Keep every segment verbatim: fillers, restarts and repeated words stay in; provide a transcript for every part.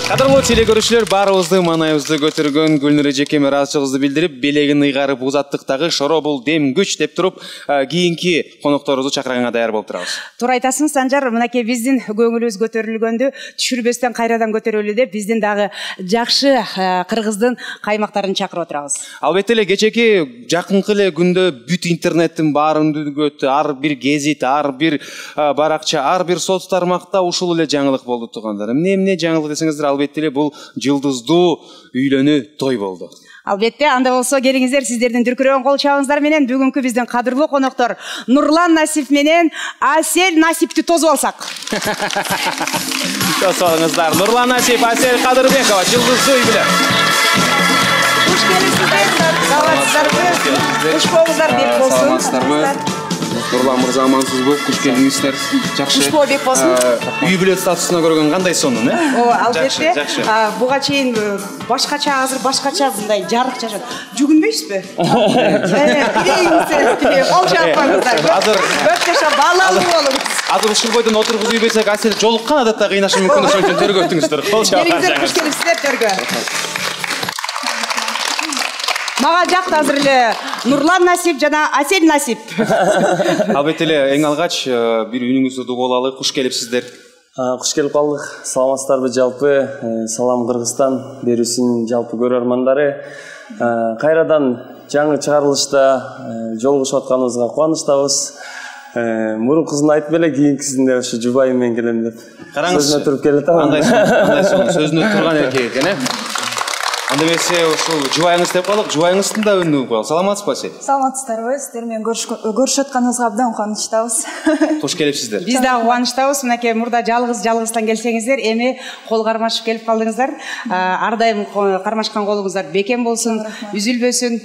Кадырлуу телекөрүүчүлөр, баарыбызды маанайыбызды көтөргөн Гүлнур эжекеме ыраазычылыгыбызды билдирип, белегин ыйгарып узаттыктагы шоро бул дем күч деп туруп, кийинки конокторубузду чакырганга даяр болуп турабыз. Туура айтасың, Санжар. Мынакей биздин көңүлүбүз көтөрүлгөндө түшүрбөстөн кайрадан көтөрөлү деп биздин дагы жакшы кыргыздын каймактарын чакырып отурабыз. Албетте эле кечеки жакынкы эле күндө бүт интернеттин баарын дүгөттү, ар бир гезит, ар бир баракча, ар бир соц тармакта ушул эле жаңылык болду туугандар. Эмне эмне жаңылык десеңиздер, албетте эле бул жылдыздуу үйлөнүү той болду. Албетте, анда болсо келиңиздер, сиздердин дүркүрөгөн кол чабыңыздар менен бүгүнкү биздин кадырлуу коноктор Нурлан Насип менен Асель Насипти тосуп алсак. Тосуп алыңыздар. Нурлан Насип, Асель Кадырбекова жылдыздуу үй менен. Куш келипсиздер. Саламатсыздарбы? Куш болуңуздар, бек болсун. Саламатсыздарбы? Нурлан мырза, амансызбы? Куш келиңиздер. Жакшы. Куш болуп бек болсун. Үй бүлө статусуна көргөн кандай сонун, э? О, албетте. Буга чейин башкача, азыр башкача мындай жарык жашат. Жүгүнбөйсүзбү? Кирейиңиздер, кол чаппаңыздар. Азыр көп жашап балалуу болуңуз. Азыр ушул бойдон отургузуй берсек, Асель жолуккан адатта кыйнашы мүмкүн, ошон үчүн төргө өтүңүздөр. Кол чапыңыздар. Келиңиздер, куш келипсиздер төргө. Мага жакты азыр эле Нурлан Насип жана Асель Насип. Албетте эле эң алгач бир үнүңүздү угуп алалы. Куш келипсиздер. Куш келип калдык. Саламатсыздарбы жалпы? Салам Кыргызстан берүүсүнүн жалпы көрөрмандары. Кайрадан жаңы чыгарылышта жолугушуп атканыбызга кубанычтабыз. Мурункусын айтып эле, кийинкисинде ошо жубайым менен келем деп. Сөзүнө туруп келатам. Андай андай сонун сөзүнө турган эркек экен, э? Анда эмесе ушул жубайыңыз деп калдык, жубайыңыздын да үнүн угуп алалы. Саламатсызбы, Асель? Саламатсыздарбы? Сиздер менен көрүшүп атканыбызга абдан кубанычтабыз. Куш келипсиздер. Биз дагы кубанычтабыз. Мынакей мурда жалгыз жалгыздан келсеңиздер, эми кол кармашып келип калдыңыздар. Ар дайым кармашкан колуңуздар бекем болсун, үзүлбөсүн,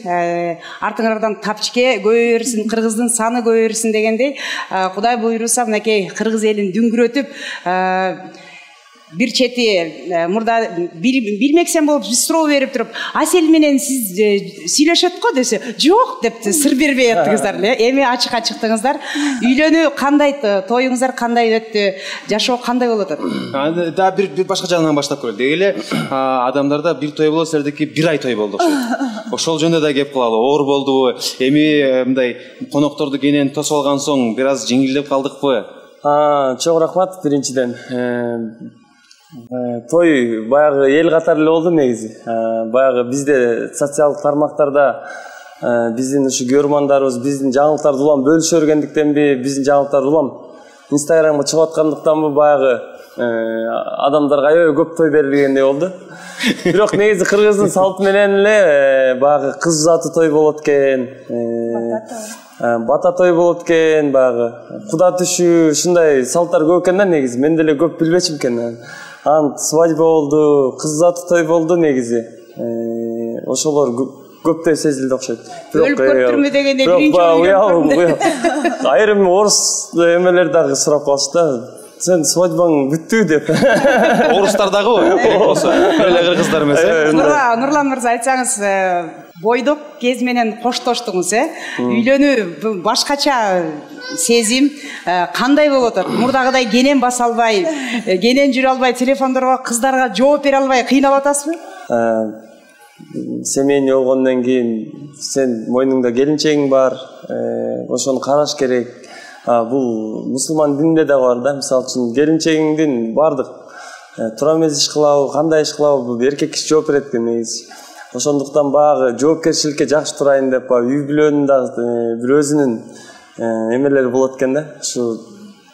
артыңардан тапчке көбөйөрсүн, кыргыздын саны көбөйөрсүн дегендей, Кудай буйруса мынакей кыргыз элин дүңгүрөтүп, бир чети мурда билмексем болуп суроо берип туруп, Асель менен сиз сүйлөшөт го десе, жок деп сыр бербей аттыңыздар эле. Эми ачыкка чыктыңыздар. Үйлөнүү кандай, тоюңуздар кандай өттү, жашоо кандай болуп атат? Да бир бир башка жагынан баштап көрөлү. Деги эле адамдарда бир той болсо, силердики бир ай той болду окшойт. Ошол жөнүндө да кеп кылалы. Оор болдубу? Эми мындай конокторду кенен тосуп алган соң бир аз жеңилдеп калдыкпы? Чоң рахмат биринчиден. Той баягы эл катары эле болду негизи. Баягы бизде социалдык тармактарда биздин ушу көрөрмандарыбыз биздин жаңылыктарды улам бөлүшө бергендиктенби, биздин жаңылыктарды улам Инстаграмга чыгып аткандыктанбы баягы адамдарга аябай көп той берилгендей болду. Бирок негизи кыргыздын салты менен эле баягы кыз узатуу той болот экен. Бата той болот экен, баягы куда түшүү, ушундай салттар көп экен да негизи. Мен деле көп билбечим экен. Ант свадьба болду, кыз узатуу той болду негизи. Ошолор көптөй сезилди окшойт. Өлүп көптүрмү дегенде биринчи айрым орус эмелер дагы сурап калышты. Сен свадьбаң бүттү деп. Орустар дагы болсо, эле кыргыздар эмес. Нурлан мырза, айтсаңыз, бойдок кез менен коштоштуңуз, э? Үйлөнүү башкача сезим кандай болуп атат? Мурдагыдай кенен баса албай, кенен жүрө албай, телефондорго кыздарга жооп бере албай кыйналып атасызбы? Семейный болгондон кийин сен мойнуңда келинчегиң бар, ошону караш керек. Бул мусулман дининде да бар да, мисалы үчүн келинчегиңдин бардык тура эмес иш кылабы, кандай иш кылабы, бул эркек киши жооп берет экен негизи. Ошондуктан багы жоопкерчиликке жакшы турайын деп, үй бүлөнүн дагы бир өзүнүн эмелери болот экен да. Ушу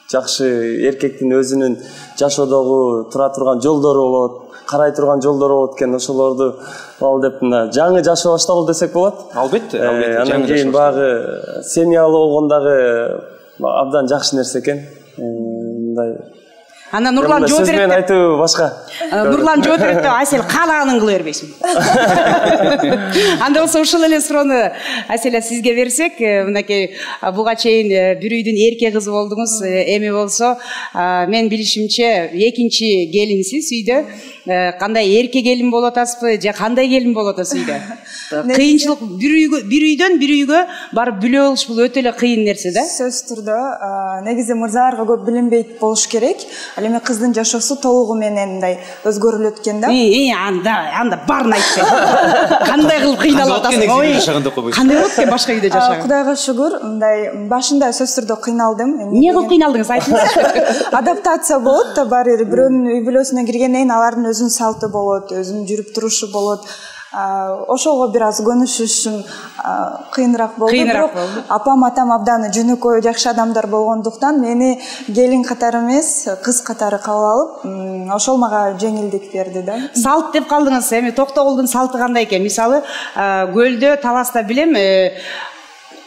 жакшы эркектин өзүнүн жашоодогу тура турган жолдору болот, карай турган жолдору болот экен. Ошолорду ал деп мына жаңы жашоо башталды десек болот. Албетте, албетте. Андан кийин багы семьялуу болгондагы абдан жакшы нерсе экен. Мындай Ана Нурлан жооп берет. Сөз менен айтуу башка. Нурлан жооп берет деп, Асель каалаганын кыла бербейсиң. Анда болсо ушул эле суроону Аселя сизге берсек, мынакей буга чейин бир үйдүн эрке кызы болдуңуз, эми болсо мен билишимче экинчи келинсиз үйдө. кандай эрке келин болуп атасызбы же кандай келин болуп атасыз үйдө? Кыйынчылык бир үйгө бир үйдөн бир үйгө барып бүлө болуш бул өтө эле кыйын нерсе да. Сөз түрдө негизи мырзаларга көп билинбейт болуш керек. Ал эми кыздын жашоосу толугу менен мындай өзгөрүлөт экен да. И анда анда баарын айтты. Кандай кылып кыйналып атасың? Кандай болот экен башка үйдө жашаган? Кудайга шүгүр, мындай башында сөз түрдө кыйналдым. Эмне кылып кыйналдыңыз? Айтыңызчы. Адаптация болот да, баары бир бирөөнүн үй бүлөсүнө киргенден кийин алардын өзүнүн салты болот, өзүнүн жүрүп турушу болот. Ошого бир аз көнүшүш үчүн кыйыныраак болду. Бирок апам атам абдан жөнөкөй жакшы адамдар болгондуктан мени келин катары эмес, кыз катары кабыл алып, ошол мага жеңилдик берди да. Салт деп калдыңыз. Эми Токтогулдун салты кандай экен? Мисалы, көлдө, таласта билем,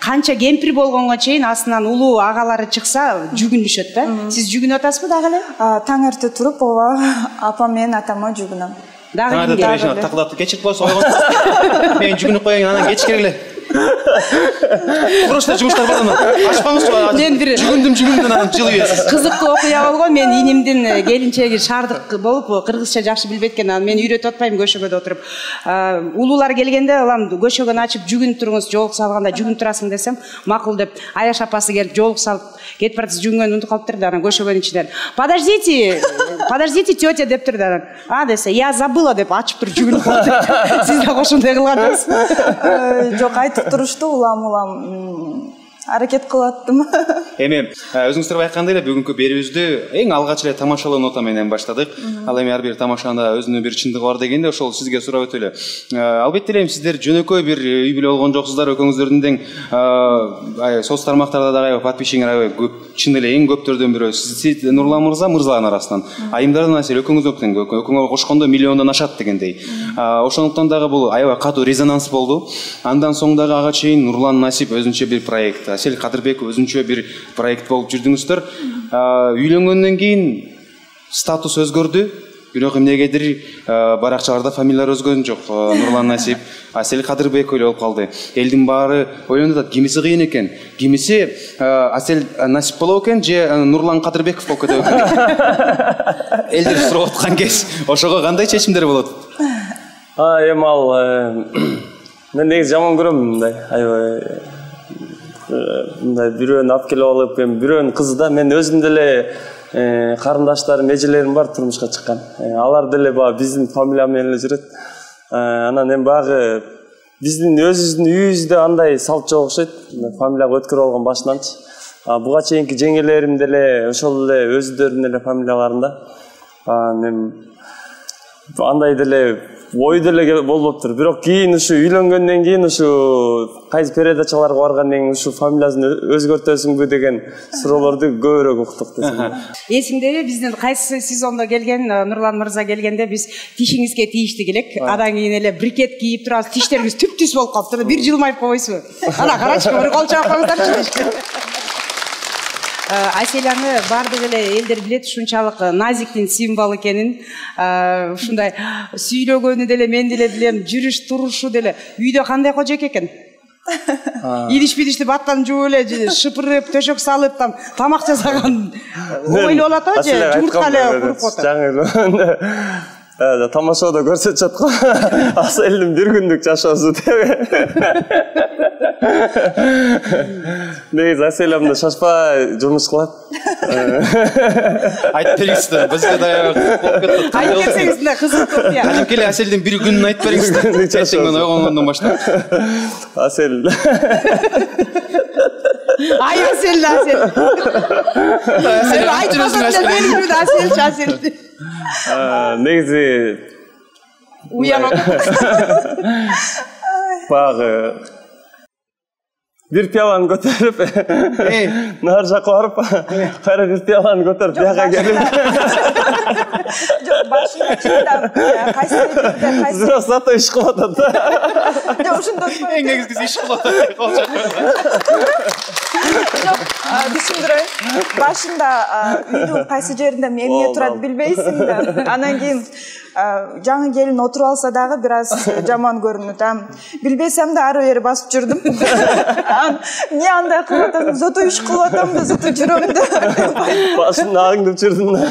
канча кемпир болгонго чейин астынан улуу агалары чыкса жүгүнүшөт да. Сиз жүгүнүп атасызбы дагы эле? Таң эрте туруп, ооба, апам менен атама жүгүнөм. Дагы кимге? Такылатып кечирип коесуз, ойгон. Мен жүгүнүп коеюн, анан кеч келгиле. Просто жумуштар бар анан. Ачпаңызчы. Мен бир жүгүндүм, жүгүндүм анан жылып ийесиз. Кызыктуу окуя болгон. Мен инимдин келинчеги шаардык болуп, кыргызча жакшы билбейт экен. Анан мен үйрөтүп атпайм көшөгөдө отуруп. Улуулар келгенде, улам көшөгөнү ачып жүгүнүп туруңуз, жоолук салганда жүгүнүп турасың десем, макул деп, Аяш апасы келип жоолук салып, кетип баратсыз, жүгүнгөнү унутуп калыптыр да, анан көшөгөнүн ичинен. Подождите, подождите, тетя дептир да. А десе, я забыла деп ачып туруп жүгүнүп калды. Сиз да ошондой кылган жоқсуз? Жок, айтып турушту, улам-улам аракет кылаттым. Эми өзүңүздөр байкагандай эле бүгүнкү берүүбүздү эң алгач эле тамашалоо нота менен баштадык. Ал эми ар бир тамашанын өзүнүн бир чындыгы бар дегенде ошол сизге сурап өтөлү. Албетте эле сиздер жөнөкөй бир үй бүлө болгон жоксуздар, экөөңүздөрдүн тең соц тармактарда дагы подписчиңер көп, чын эле эң көптөрдөн бирөө. Сиз Нурлан мырза, мырзалардын арасынан. Айымдардан аселе экөөңүздөр тең, экөөңөр кошкондо миллиондон ашат дегендей. Ошондуктан дагы бул аябай катуу резонанс болду. Андан соң дагы ага чейин Нурлан Насип өзүнчө бир проект, Асель Кадырбеков өзүнчө бир проект болуп жүрдүңүздөр. Үйлөнгөндөн кийин статус өзгөрдү, бирок эмнегедир баракчаларда фамилиялар өзгөргөн жок. Нурлан Насип, Асель Кадырбеков эле болуп калды. Элдин баары ойлонуп атат, кимиси кыйын экен? Кимиси Асель Насип болобу экен же Нурлан Кадырбеков болуп кетеби экен? Элдер сурап аткан кез. Ошого кандай чечимдер болот? А, эми ал мен негизи жаман көрөм мындай. Аябай мындай бирөөнү алып келип алып, эми бирөөнүн кызы да, мен өзүм деле карындаштарым, эжелерим бар турмушка чыккан. Алар деле баа биздин фамилия менен эле жүрөт. Анан эми багы биздин өзүбүздүн үйүбүздө андай салт жок окшойт. Фамилияга өткөрүп алган башынанчы. Буга чейинки жеңелерим деле ошол эле өздөрүнүн эле фамилияларында. Эми андай деле ой деле болбоптур. Бирок кийин ушу үйлөнгөндөн кийин ушу кайсы передачаларга баргандан кийин ушу фамилиясын өзгөртөсүңбү деген суроолорду көбүрөөк уктук десем. Эсиңдеби биздин кайсы сезондо келген Нурлан мырза келгенде биз тишиңизге тийиштик элек. Андан кийин эле брикет кийип турабыз, тиштерибиз түп-түз болуп калыптыр. Бир жылмайып койбойсузбу? Ана карачы, бир кол чаап коюңуздарчы. Аселяны бардык эле элдер билет, ушунчалык назиктин символу экенин. Ушундай сүйлөгөнү деле мен деле билем, жүрүш турушу деле. Үйдө кандай кожок экен? Идиш-бидишти баттан жууп эле, шыпырып, төшөк салып, там тамак жасаган ойлоп атабы же жумуртка эле куруп атат? Тамашада көрсөтүп аткан Аселдин бир күндүк жашоосу деп. Негизи Аселямда шашпай жумуш кылат. Айтып бериңиздер, бизге дагы айтып берсеңиз да кызык болот я. Кадим келе Аселдин бир күнүн айтып бериңиздер. Эртеңден ойгонгондон баштап. Асел. Ай Асел, Асел. Асел айтпасаң да белгилүү Асел, Асел. Негизи уянат. Багы бир пиаланы көтөрүп, нар жакка барып, кайра бир пиаланы көтөрүп, бияка келип. Жок, башында чындап, кайсы жерде, кайсы. Бирок зато иш кылып атат. Жок, ошондой. Эң негизгиси иш кылып атат. Жок, түшүндүрөйүн. Башында үйдүн кайсы жеринде эмне турат билбейсиң да. Анан кийин жаңы келин отуруп алса дагы бир аз жаман көрүнөт. Билбесем да ары бери басып жүрдүм. Не андай кылып атам, зато иш кылып атам да, зато жүрөм да. Башымды аңдып жүрдүм да.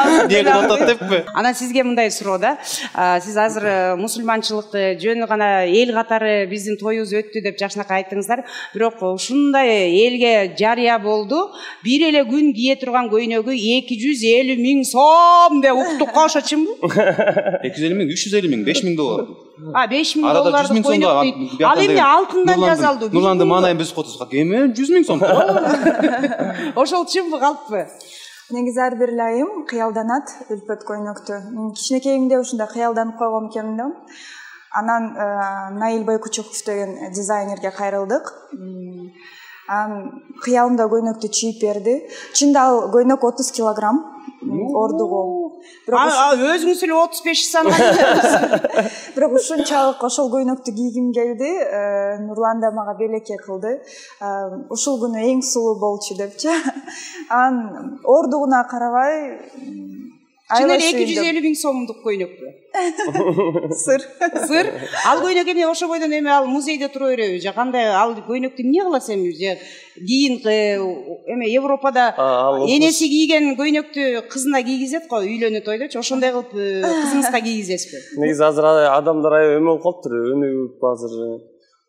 эмне кылып атат деппи? Анан сизге мындай суроо да. Сиз азыр мусулманчылыкты жөн гана эл катары биздин тоюбуз өттү деп жакшынакай айттыңыздар. Бирок ушундай элге жарыя болду. Бир эле күн кие турган көйнөгү эки жүз элүү миң сом деп уктук го, ошо чынбы? эки жүз элүү миң, үч жүз элүү миң, беш миң доллар. А, беш миң долларды көйнөк. Ал эмне алтындан жазалды? Нурланды манайын биз котузга. Эме жүз миң сом. Ошол чынбы калппы? Негизи ар бир айым кыялданат үлпөт көйнөктү. Мен кичинекейимде ушундай кыялданып койгом экен да. Анан Наил Байкучуков деген дизайнерге кайрылдык. Анан кыялымда көйнөктү чийип берди. Чында ал көйнөк отуз килограмм ордугу. А өзүңүз эле отуз беш санган. Бирок ушунчалык ошол көйнөктү кийгим келди. Нурлан да мага белекке кылды. Ушул күнү эң сулуу болчу депчи. Анан ордугуна карабай чын эле эки жүз элүү миң сомдук көйнөкпү. Сыр. Сыр. Ал көйнөк эме ошо бойдон эме ал музейде тура береби? Же кандай ал көйнөктү эмне кыласыз эми? Же кийин эме Европада энеси кийген көйнөктү кызына кийгизет го, үйлөнүү тойдочу. Ошондой кылып кызыңызга кийгизесизби? Негизи азыр адамдар аябай эме болуп калыптыр, өнүгүп азыр.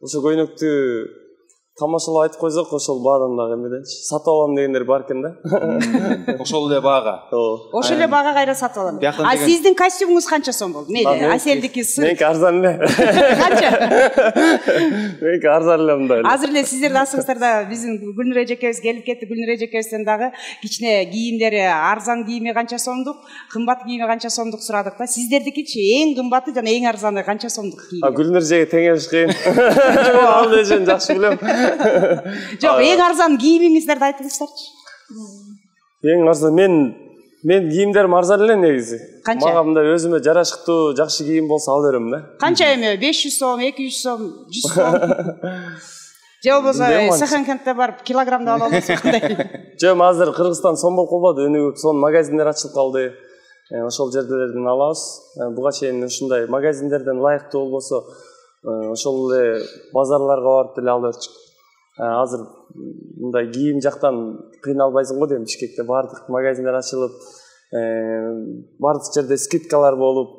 Ошо көйнөктү тамашалап айтып койсок, ошол баадан дагы эмеденчи сатып алам дегендер бар экен да. Ошол эле баага. Ошол эле баага кайра сатып алам. А сиздин костюмуңуз канча сом болду? Мейли, Аселдики сыр. Меники арзан эле. Канча? Меники арзан эле мындай. Азыр эле сиздер дасыңыздар да биздин Гүлнур эжекебиз келип кетти. Гүлнур эжекебизден дагы кичине кийимдери, арзан кийими канча сомдук, кымбат кийими канча сомдук сурадык да. Сиздердикичи эң кымбаты жана эң арзаны канча сомдук кийим? А Гүлнур эжеге теңеш кыйын. Ал эжени жакшы билем. Жок, эң арзан кийимиңиздерди айтыңыздарчы. Эң арзан мен мен кийимдерим арзан эле негизи. Мага мындай өзүмө жарашыктуу, жакшы кийим болсо ала берем да. Канча эме? беш жүз сом, эки жүз сом, жүз сом. Же болбосо секонд-хендте барып килограммда ала аласыз кандай? Жок, азыр Кыргызстан сом болуп калбады, өнүгүп, сонун магазиндер ачылып калды. Ошол жерлерден алабыз. Буга чейин ушундай магазиндерден ылайыктуу болбосо, ошол эле базарларга барып деле алып берчүк. Азыр мындай кийим жактан кыйналбайсың го дейм. Бишкекте баардык магазиндер ачылып, баардык жерде скидкалар болуп,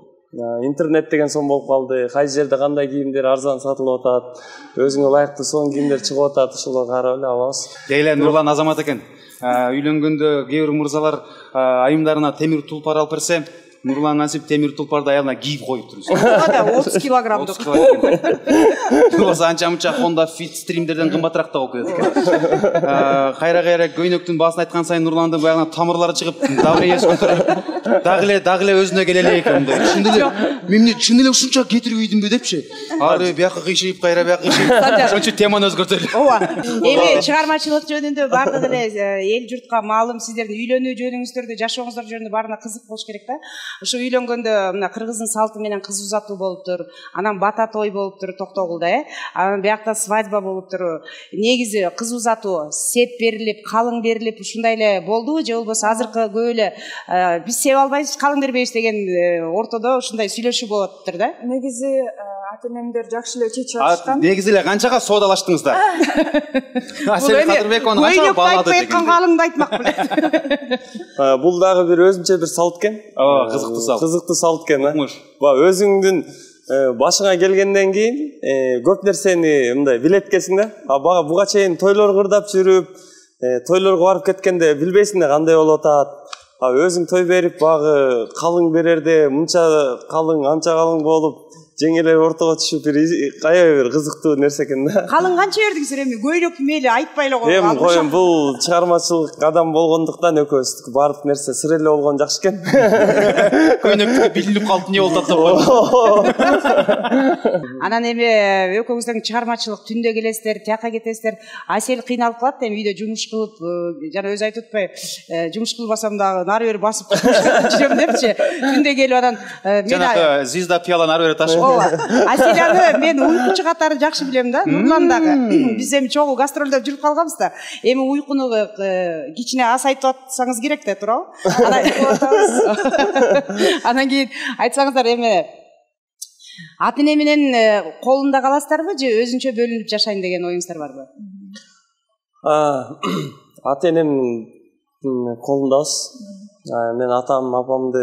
интернет деген сом болуп калды. Кайсы жерде кандай кийимдер арзан сатылып атат, өзүңө ылайыктуу сонун кийимдер чыгып атат, ошолорго карап эле алабыз. Дейле Нурлан азамат экен. Үйлөнгөндө кээ бир мырзалар айымдарына темир тулпар алып берсе, Нурлан насип темир тулпарды аялына кийип коюп туруп. отуз килограммдык. Болсо анча-мынча Honda Fit стримдерден кымбатыраак да болуп кетет экен. Кайра-кайра көйнөктүн баасын айткан сайын Нурландын баягы тамырлары чыгып, давлениеси көтөрүлүп, дагы эле дагы эле өзүнө келе элек экен мындай. Чын эле мен чын эле ушунча кетирбейдимби депчи. Ары бияка кыйшыйып, кайра бияка кыйшыйып, ошончо теманы өзгөртөлү. Ооба. Эми чыгармачылык жөнүндө бардык эле эл журтка маалым, сиздердин үйлөнүү жөнүңүздөрдө, жашооңуздар жөнүндө баарына кызык болуш керек да. Ошо үйлөнгөндө мына кыргыздын салты менен кыз узатуу болуптур, анан бата той болуптур Токтогулда, э. Анан биякта свадьба болуптур. Негизи кыз узатуу сеп берилип, калың берилип ушундай эле болдубу, же болбосо азыркы көп эле биз сеп албайбыз, калың бербейбиз деген ортодо ушундай сүйлөшүү болуп атыптыр да? Негизи ата-энемдер жакшы эле чечип алышкан. Негизи эле канчага соодалаштыңыздар? Асел Кадырбекова канчага баалады деген. Көйнөктү калыңды айтмак белет. Бул дагы бир өзүнчө бир салт экен. Ооба, кызыктуу салт. Кызыктуу салт экен, э. Ба өзүңдүн башыңа келгенден кийин көп нерсени мындай билеткесиң да. А бага буга чейин тойлор кырдап жүрүп, тойлорго барып кеткенде билбейсиң да кандай болуп атат. А өзүң той берип багы калың берерде мынча калың, анча калың болуп, жеңеле ортого түшүп бир аябай бир кызыктуу нерсе экен да. Калың канча бердиңиздер эми? Көйнөк мейли айтпай эле коюп. Эми коем, бул чыгармачылык адам болгондуктан экөөбүз баардык нерсе сыр эле болгон жакшы экен. Көйнөктү билинип калып эмне болуп атат. Анан эми экөөңүздөрдүн чыгармачылык түндө келесиздер, тияка кетесиздер. Асел кыйналып калат эми үйдө жумуш кылып, жана өзү айтып атпайбы, жумуш кылбасам дагы нары бери басып жүрөм депчи. Түндө келип анан мен жанагы звезда пияла нары бери ташып. Аселяны мен уйкучу катары жакшы билем да. Нурлан дагы. Биз эми чогуу гастролдоп жүрүп калганбыз да. Эми уйкуну кичине азайтып атсаңыз керек да, туурабы? Анан кийин айтсаңыздар эми ата-эне менен колунда каласыздарбы же өзүнчө бөлүнүп жашайын деген оюңуздар барбы? Ата-энемдин колундабыз. Мен атам, апамды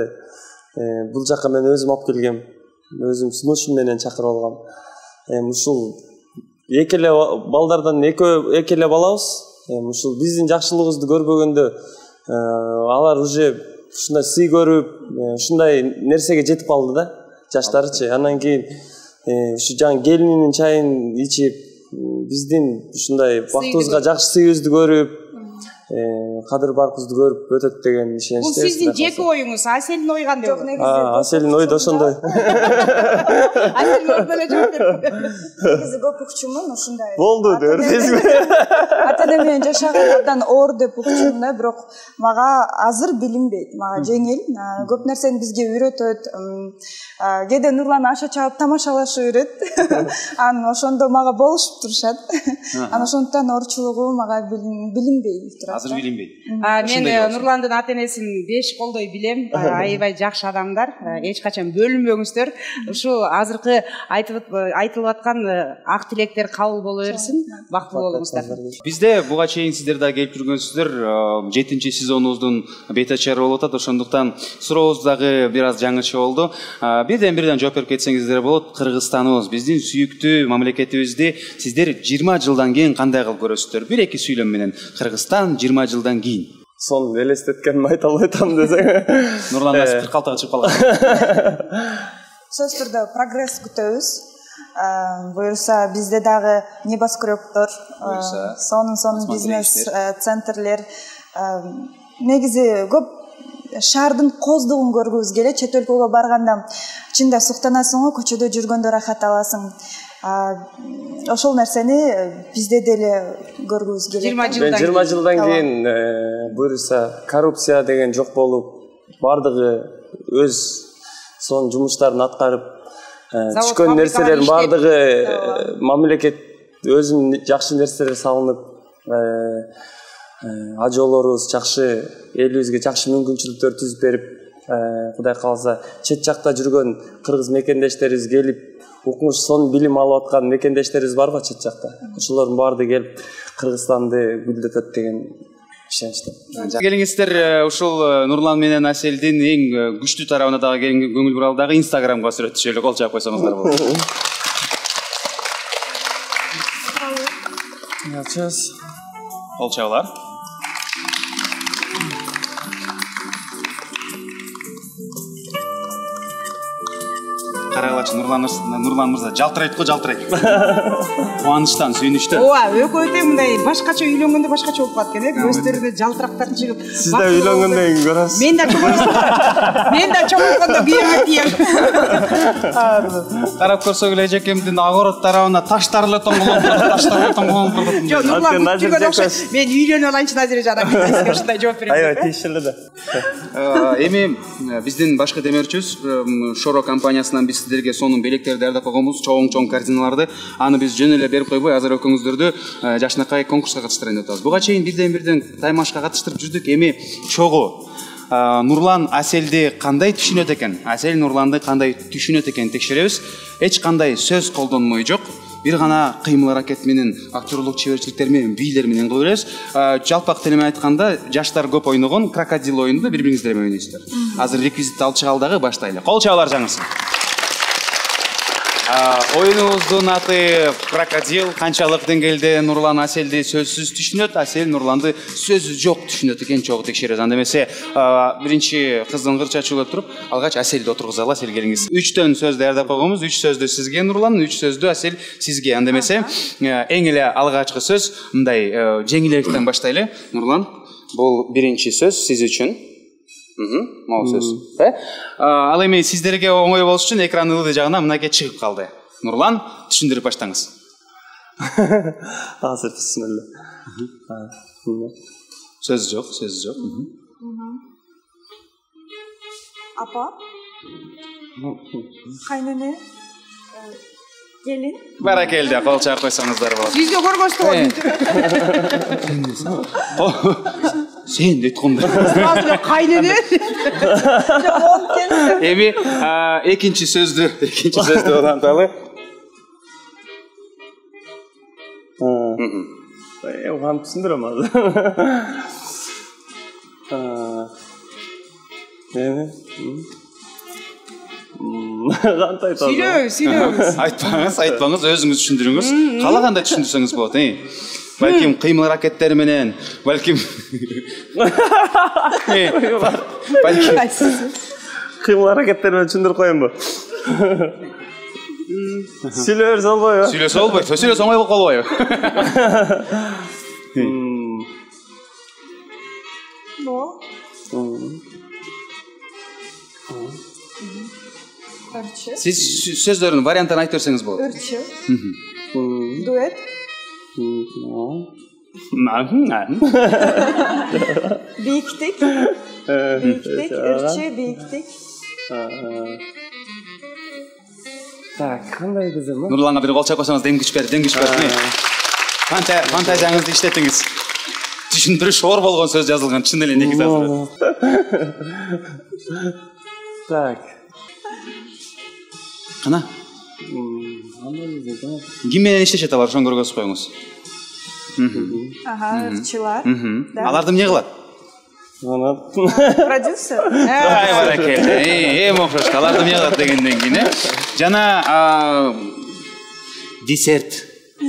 бул жакка мен өзүм алып келгем. Өзүм сунушум менен чакырып алгам. Эми ушул эки эле балдардан экөө эки эле балабыз. Эми ушул биздин жакшылыгыбызды көрбөгөндө алар уже ушундай сый көрүп, ушундай нерсеге жетип калды да, жаштарычы. Андан кийин ушу жаңы келининин чайын ичип, биздин ушундай бактыбызга жакшы сыйыбызды көрүп, кадыр баркыбызды көрүп өтөт деген ишеничте. Бул сиздин жеке оюңуз, Аселдин ой кандай болду? Аселдин ою да ошондой. Аселдин ой деле жооп берди. Негизи көп укчумун ушундай. Болду дөрдүсү. Ата-эне менен жашаган абдан оор деп укчумун да, бирок мага азыр билинбейт. Мага жеңил. Көп нерсени бизге үйрөтөт. Кээде Нурлан аша чаап тамашалашып жүрөт. Анан ошондо мага болушуп турушат. Анан ошондуктан оорчулугу мага билинбей турат. Азыр билинбейт. Мен Нурландын ата-энесин беш колдой билем. Аябай жакшы адамдар. Эч качан бөлүнбөңүздөр. Ушу азыркы айтылып аткан ак тилектер кабыл боло берсин. Бактылуу болуңуздар. Бизде буга чейин сиздер да келип жүргөнсүздөр. жетинчи сезонубуздун бет ачары болуп атат. Ошондуктан сурообуз дагы бир аз жаңыча болду. Бирден бирден жооп берип кетсеңиздер болот. Кыргызстаныбыз, биздин сүйүктүү мамлекетибизди сиздер жыйырма жылдан кийин кандай кылып көрөсүздөр? Бир эки сүйлөм менен Кыргызстан жыйырма жылдан кийин. Сон элестеткеним айта албай атам десең. Нурлан азыр кырк алтыга чыгып калган. Сөз түрдө прогресс күтөбүз. Буюрса бизде дагы небоскребтор, сонун сонун бизнес центрлер, негизи көп шаардын коздугун көргүбүз келет. Чет өлкөгө барганда чында суктанасың го, көчөдө жүргөндө рахат аласың. Ошол нерсени бизде деле көргүбүз келет. жыйырма жылдан кийин буюрса коррупция деген жок болуп, бардыгы өз сонун жумуштарын аткарып, түшкөн нерселердин бардыгы мамлекет өзүнүн жакшы нерселери салынып, ажоолорубуз жакшы, элибизге жакшы мүмкүнчүлүктөр түзүп берип, Кудай кааласа чет жакта жүргөн кыргыз мекендештерибиз келип, укмуш сонун билим алып аткан мекендештерибиз барбы чет жакта? Ошолордун баардыгы келип Кыргызстанды гүлдөтөт деген ишеничте. Келиңиздер, ушул Нурлан менен Аселдин эң күчтүү тарабына дагы көңүл буралы дагы Инстаграмга сүрөттүшөлү, кол чаап койсоңуздар болот. Кол чабылар. Карагылачы Нурлан Нурлан мырза жалтырайт го, жалтырайт. Кубанычтан, сүйүнүчтөн. Ооба, экөө тең мындай башкача үйлөнгөндө башкача болуп калат экен, э? Көздөрүндө жалтырактар чыгып. Сиз да үйлөнгөндөн кийин көрөсүз. Мен да чоңойсом. Мен да чоңойгондо күйөмө тием. Карап көрсөк эле эжекемдин огород тарабына таштар эле тоңголоп турат, таштар эле тоңголоп турат. Жок, Нурлан күттүгөн окшойт. Мен үйлөнүп алайынчы Назире жанам, мен ушундай жооп берем. Айва, тийиштеле да. Эми биздин башкы демөөрчүбүз Шоро компаниясынан биз сиздерге сонун белектерди даярдап койгонбуз, чоң-чоң картиналарды. Аны биз жөн эле берип койбой, азыр экөөңүздөрдү жакшынакай конкурска катыштырайын деп атабыз. Буга чейин бирден бирден таймашка катыштырып жүрдүк. Эми чогуу Нурлан Аселди кандай түшүнөт экен? Асел Нурланды кандай түшүнөт экен текшеребиз. Эч кандай сөз колдонмой жок. Бир гана кыймыл аракет менен, актерлук чеберчиликтер менен, бийлер менен кылып беребиз. Жалпак тил менен айтканда, жаштар көп ойногон крокодил оюнду бири-бириңиздер менен ойнойсуздар. Азыр реквизит алып чыгалы дагы баштайлы. Кол чабуулар жаңырсын. Оюнубуздун аты крокодил. Канчалык деңгээлде Нурлан Аселди сөзсүз түшүнөт, Асел Нурланды сөзү жок түшүнөт экен, чогуу текшеребиз. Анда эмесе биринчи кыздын кыр чачууга туруп, алгач Аселди отургузалы. Асел келиңиз. үчтөн сөз даярдап койгонбуз. үч сөздү сизге Нурлан, үч сөздү Асел сизге. Анда эмесе эң эле алгачкы сөз мындай жеңилирээктен баштайлы. Нурлан, бул биринчи сөз сиз үчүн. Могу сөз. Ал эми сиздерге оңой болуш үчүн экран ылдый жагына мынакей чыгып калды. Нурлан, түшүндүрүп баштаңыз. Азыр бисмилла. Сөз жок, сөз жок. Апа? Кайнене? Келин? Баракелде, кол чаап койсоңуздар болот. Сизге көргөзтү. Сен дейтконда. Азыр кайнене? Эми экинчи сөздү, экинчи сөздү уланталы. Э, уган түшүндүрөм азыр. эми кантип айтасыз? Сүйлөбүз, сүйлөбүз. Айтпаңыз, айтпаңыз, өзүңүз түшүндүрүңүз. Каалагандай түшүндүрсөңүз болот, э? Балким кыймыл аракеттери менен, балким балким кыймыл аракеттери менен түшүндүрүп коеюнбу? Сүйлөп берсе болбойбу? Сүйлөсө болбойт, сүйлөсө оңой болуп калбайбы? Сиз сөздөрүнүн варианттарын айтып берсеңиз болот. Ырчы. Дуэт. Бийиктик. Бийиктик, ырчы, бийиктик. Так, кандай десем? Нурланга бир кол чапкансаңыз дем күч берди, дем күч берди. Фантазия, фантазияңызды иштетиңиз. Түшүндүрүш оор болгон сөз жазылган, чын эле негизи азыр. Так. Кана? Ким менен иштешет алар, ошону көргөзүп коюңуз. Ага, ырчылар. Аларды эмне кылат? Продюсер. Ай, баракелде. Эми окшош, аларды эмне кылат дегенден кийин, э? Жана десерт.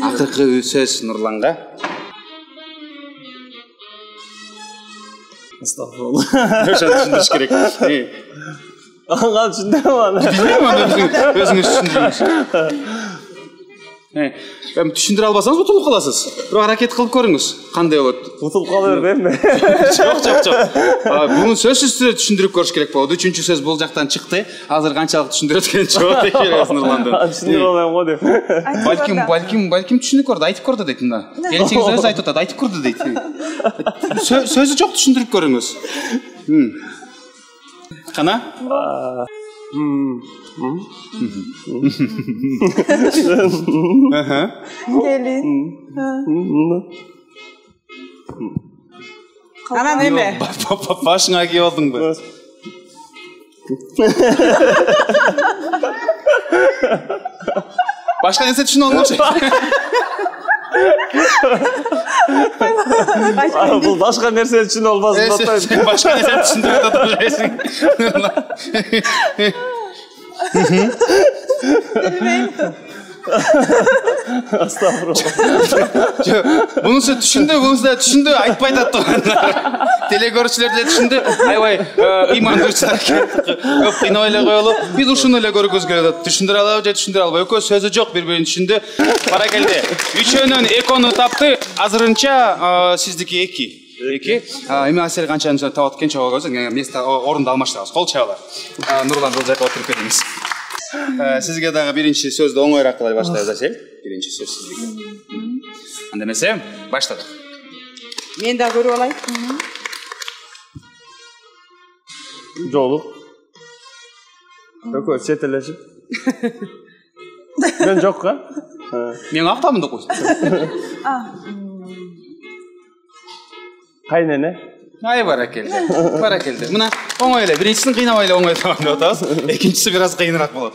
Акыркы сөз Нурланга. Астагфирулла. Ошону түшүндүрүш керек. Ага, түшүндүм аны. Өзүңүз түшүндүрүңүз. Эми түшүндүрө албасаңыз утулуп каласыз. Бирок аракет кылып көрүңүз. Кандай болот? Утулуп кала бербейм. Жок, жок, жок. Буну сөзсүз түрдө түшүндүрүп көрүш керек болот. Үчүнчү сөз бул жактан чыкты. Азыр канчалык түшүндүрөт экенин жок экенбиз Нурланды. Түшүндүрө албайм го деп. Балким, балким, балким түшүнүп көрдү, айтып көрдү дейт мына. Келинчегиз өзү айтып атат, айтып көрдү дейт. Сөзү жок, түшүндүрүп көрүңүз. Кана? Келин. Анан эме? Башыңа кийип алдыңбы? Башка нерсе түшүнүп алган окшойт. Бул башка нерсе түшүнүп албасын атайын. Башка нерсе түшүндүрүп атасың. Астагфирулла. Мунусу түшүндү, мунусу да түшүндү, айтпай атат. Теле көрүүчүлөр деле түшүндү. Аябай ыймандуучу аракет. Көп кыйнабай эле коелу. Биз ушуну эле көргөзгүлө атат. Түшүндүрө алабы же түшүндүрө албайбы? Экөө сөзү жок, бири-бирин түшүндү. Баракелде. Үчөөнөн экөөнү тапты. Азырынча сиздики эки. Эки. Эми Асель канчаны табат экен чогуу көзүң. Место орунду алмаштырабыз. Кол чабалар. Нурлан бул жака отуруп кетиңиз. Сизге дагы биринчи сөздү оңоюраак кылай баштайбыз, Асель. Биринчи сөз сизге. Анда эмесе, баштадык. Мен да көрүп алайын. Жолук. Экөө четелешип. Мен жокка. Мен актамын да койсун. Кайнене. Ай, баракелде. Баракелде. Мына оңой эле, биринчисин кыйнабай эле оңой табам деп атабыз. Экинчиси бир аз кыйыныраак болот.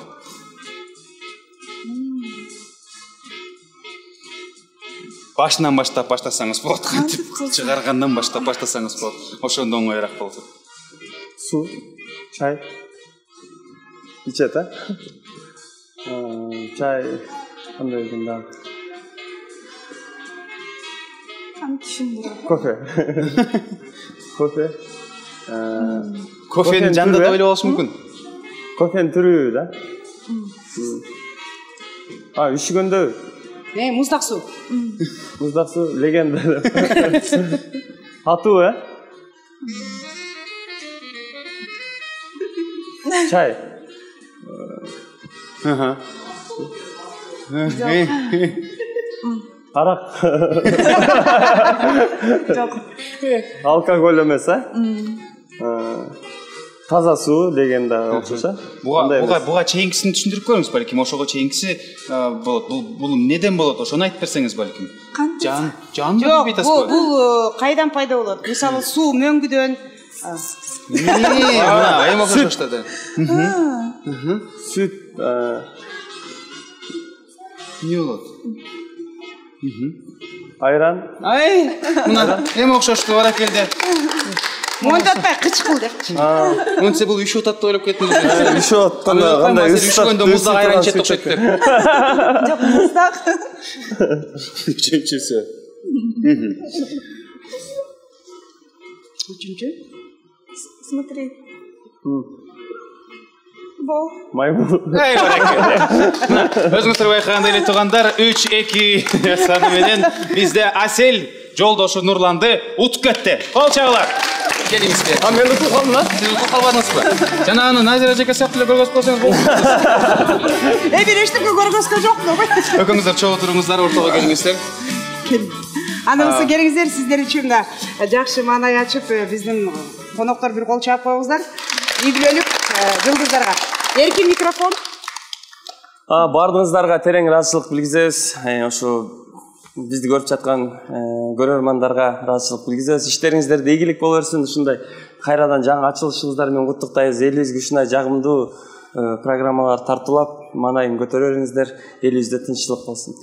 Башынан баштап баштасаңыз болот, кантип чыгаргандан баштап баштасаңыз болот. Ошондо оңоюраак болот. Су, чай. Ичет, а? Чай кандай экен дагы? Кофе. Кофе. Кофенин жанында да ойлоп алыш мүмкүн. Кофенин түрү да. А, үшүгөндө. Э, муздак суу. Муздак суу, легенда. Татуу, э? Чай. Ага. Арак. Жок. Алкоголь эмес, а? Таза суу дегенде окшош, а? Буга буга буга чейинкисин түшүндүрүп көрүңүз балким. Ошого чейинкиси болот. Бул бул эмнеден болот? Ошону айтып берсеңиз балким. Жан, жан Жок, бул бул кайдан пайда болот? Мисалы, суу мөңгүдөн. Мына, эми окшош да. Сүт, эмне болот? Айран. Ай, мына эми окшошту, баракелде. Мондатпай кычкыл депчи. Монсе бул үшүп атат деп ойлоп кеттим. Үшүп атканда кандай үшүгөндө муздак айран ичет окшойт деп. Жок, муздак. Үчүнчүсү. Үчүнчү? Смотри. Бол. Маймыл. Ай бареке. Өзүңүздөр байкагандай эле туугандар, үч эки саны менен бизде Асель жолдошу Нурланды утуп кетти. Кол чабуулар. Келиңизбе. А мен утуп калдым да? Сиз утуп калбадыңызбы? Жана аны Назира эжеке сыяктуу эле көргөзүп койсоңуз болот. Э, бир эчтеке көргөзгө жокмун. Экөөңүздөр чогуу туруңуздар, ортого келиңиздер. Анысы келиңиздер, сиздер үчүн да жакшы маанай ачып, биздин коноктор бир кол чаап коюңуздар. Ийгилөнүп жылдыздарга. Эркин микрофон. А, бардыгыңыздарга терең ыраазычылык билгизебиз. Ошо бизди көрүп жаткан көрөрмандарга ыраазычылык билгизебиз. Иштериңиздерде ийгилик боло берсин. Ушундай кайрадан жаңы ачылышыңыздар менен куттуктайбыз. Элибизге ушундай жагымдуу программалар тартуулап, маанайын көтөрө бериңиздер. Элибизде тынччылык болсун.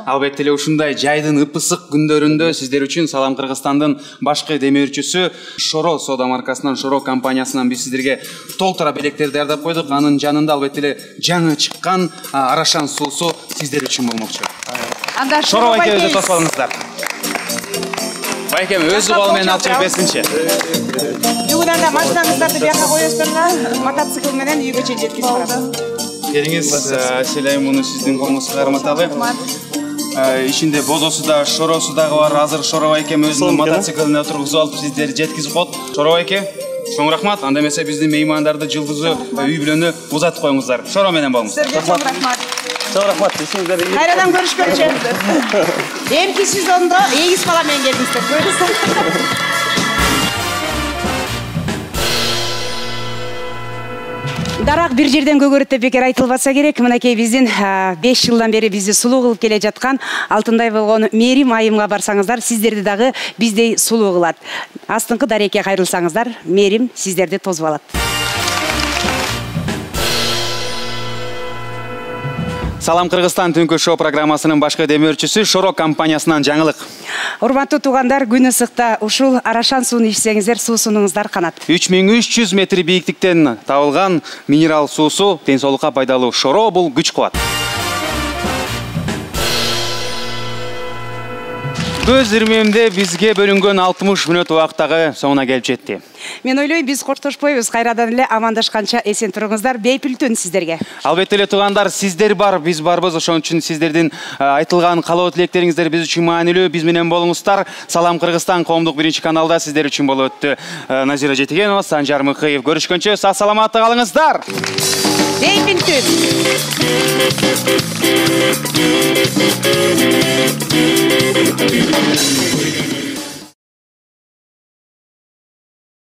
Албетте эле ушундай жайдын ып-ысык күндөрүндө сиздер үчүн Салам Кыргызстандын башкы демөөрчүсү Шоро соода маркасынан, Шоро компаниясынан биз сиздерге толтура белектерди даярдап койдук. Анын жанында албетте эле жаңы чыккан Арашан суусу сиздер үчүн болмокчу. Анда Шоро байке тосуп алыңыздар. Байкем өзү кол менен алып чыгып берсинчи. Бүгүн анда машинаңыздарды бияка коесуздар да, мотоцикл менен үйгө чейин жеткизип барасыз. Келиңиз, Аселай, муну сиздин колуңузга карматалы. Ичинде бозосу да, шоросу дагы бар. Азыр Шоро байкем өзүнүн мотоциклине отургузуп алып сиздерди жеткизип коет. Шоро байке, чоң рахмат. Анда эмесе биздин меймандарды жылдызы үй бүлөнү узатып коюңуздар. Шоро менен болуңуз. Сиздерге чоң рахмат. Чоң рахмат. Ишиңиздер ийгилик. Кайрадан көрүшкөнчө. Эмки сезондо эгиз бала менен келдиңиздер. Дарак бир жерден көгөрөт деп бекер айтылбаса керек. Мынакей биздин беш жылдан бери бизди сулуу кылып келе жаткан алтындай болгон Мерим айымга барсаңыздар, сиздерди дагы биздей сулуу кылат. Астыңкы дарекке кайрылсаңыздар, Мерим сиздерди тосуп алат. Салам Кыргызстан түнкү шоу программасынын башкы демөөрчүсү Шоро компаниясынан жаңылык. Урматтуу туугандар, күн ысыкта ушул Арашан сууну ичсеңиздер, суу сунуңуздар канат. үч миң үч жүз метр бийиктиктен табылган минерал суусу ден соолукка пайдалуу. Шоро бул күч кубат. Көз ирмемде бизге бөлүнгөн алтымыш мүнөт убактагы соңуна келип жетти. Мен ойлойм, биз коштошпойбуз, кайрадан эле амандашканча эсен туруңуздар, бейпилтүн сиздерге. Албетте эле туугандар, сиздер бар, биз барбыз. Ошон үчүн сиздердин айтылган каалоо тилектериңиздер биз үчүн маанилүү. Биз менен болуңуздар. Салам Кыргызстан коомдук биринчи каналда сиздер үчүн болуп өттү. Назира Жетигенова, Санжар Мыкыев. Көрүшкөнчө сак саламатта калыңыздар. Бейпилтүн.